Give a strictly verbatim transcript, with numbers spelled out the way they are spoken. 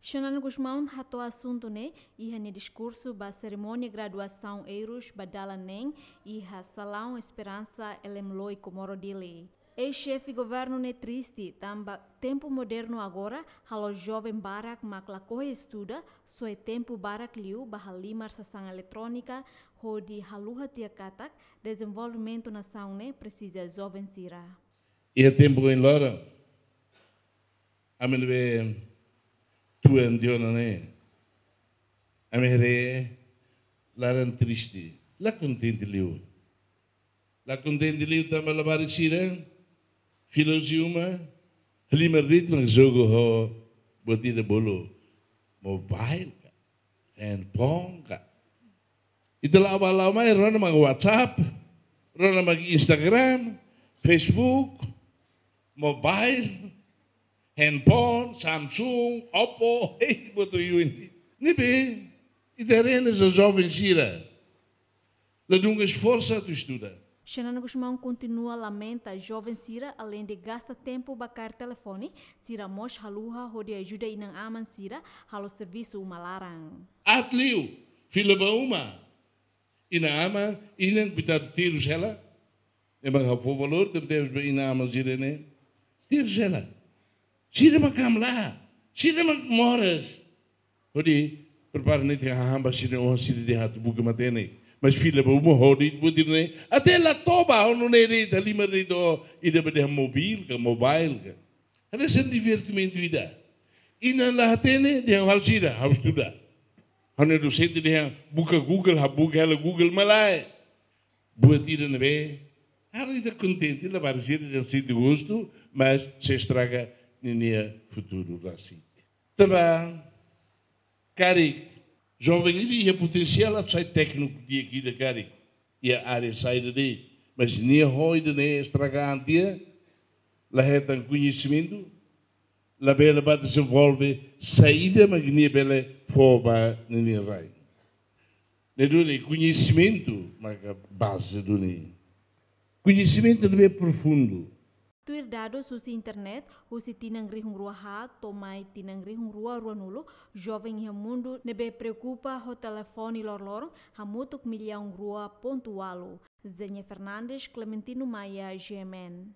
Xanana Gusmão hato'o asuntu ne'e iha nia diskursu ba serimónia graduasaun Eirus ba dalan neen iha Salaun Esperansa Elemloi, Comoro, Dili. Eis-xefe governu ne'e triste tanba tempu modernu agora halo joven barak mak lakohi estuda, soe tempu barak liu ba halimar sasán eletrónika, hodi haluha tiha katak dezenvolvimentu nasaun ne'e presiza joven sira. Iha tempu ohin loron, ami ne'ebé tuan tiha ona ne'e, ami haree laran triste, la kontente liu. La kontente liu tanba labarik sira, fila husi uma, halimar de'it mak jogu ho buat ida bolu mobile ka, handphone ka. Ita la'o bá la'o mai, rona mak WhatsApp, rona mak Instagram, Facebook, mobile, handphone, Samsung, Oppo, hei, buat oioin. Ne'ebé, ita haree ne'e joven sira ladún esforsu atu estuda. Xanana Gusmão kontinua lamenta joven sira, aleinde gasta tempu ba kaer telefone, sira mós haluha hodi ajuda inan-aman sira halo servisu uma laran. Aat liu, fila ba uma. Inan-aman, inan kuitadu terus hela. Ema ha'u fó valór, tebe tebe ba inan-aman sira ne'e. Terus hela. Sira mak hamlaha. Sira mak moras. Hodi prepara netik hahán ba sira, oan sira dehan atu buka matenek. Mas fila ba uma hodi buat ida-ne'e. Até la toba, ha'u nune'e de'it, halimar de'it, ida ba dehan mobil ka, mobile ka. Hanesan divertimentu ida. Inan la hatene, dehan halo sira, ha'u estuda. Ha'u-nia dosente dehan buka Google, ha'u buka hela Google, malae. Buat ida ne'ebé, halo ita kontente, labarik sira dehan sente gostu, mas sei estraga ninia futuru rasik. Tanba karik, joven ida iha potensiál atu sai tékniku di'ak ida karik, iha área saida de'it, mas nia ho ida-ne'e estraga an tiha, la hetan koñesimentu, labele bá dezenvolve saida mak nia bele fó ba ninia rai. Ne'e duni, koñesimentu maka baze duni. Koñesimentu ne'ebé profundu. Tuir dadus husi internet, husi tinan rihun rua haat to'o mai tinan rihun rua ruanulu, joven iha mundu ne'ebé preokupa ho telefone loroloron hamutuk millaun rua pontu ualu. Zenia Fernandes, Clementino Maia, G M N.